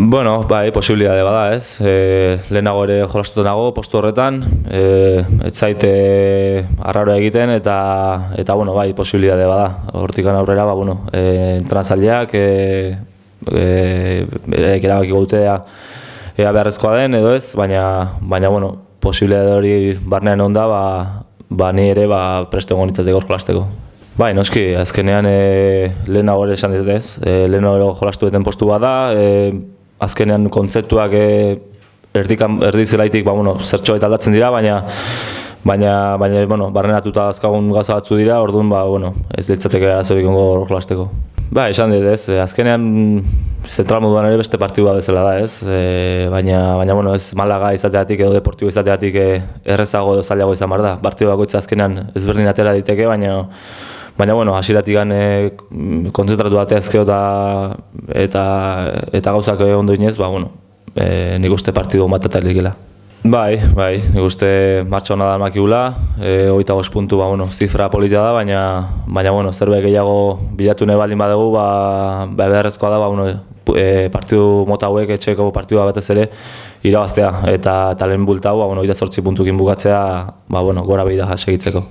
Bueno, bai, posibilitate bada, ez? Lehenago ere jolastuta nago postu horretan, ez zaite arraroa egiten eta bueno, bai, posibilitate bada. Hortik aurrera, ba bueno, entrenatzaileak erabakiko dute ea beharrezkoa den edo ez, baina bueno, posibilitate hori barnean onda, ba ni ere prest egon nintzateko jolasteko. Bai, noski, azkenean lehenago ere esan dit ez, lehenago jolastu duten postu bat da, azkenean kontzeptuak erdi zelaitik zertxo eta aldatzen dira, baina barrenatuta azkagun gauza batzu dira, orduan ez litzateke arazorik ongo jolasteko. Ba, esan dit ez, azkenean zentral moduan ere beste partidua bezala da ez, baina ez Malaga izateatik edo Deportibo izateatik errezago edo zailago izan behar da. Partidu bakoitza azkenean ezberdin atera diteke, baina hasieratik kontzentratu bateazkeo eta gauzak ondo inez, nik uste partidu bat eta likela. Bai, nik uste martxa hona da makigula, 25 puntu zifra polita da, baina zerbait gehiago bilatu nahi baldin badugu, beharrezkoa da partidu mota hauek, etxeko partidua batez ere, irabaztea eta lehen bulta hau 28 puntukin bukatzea gora behida segitzeko.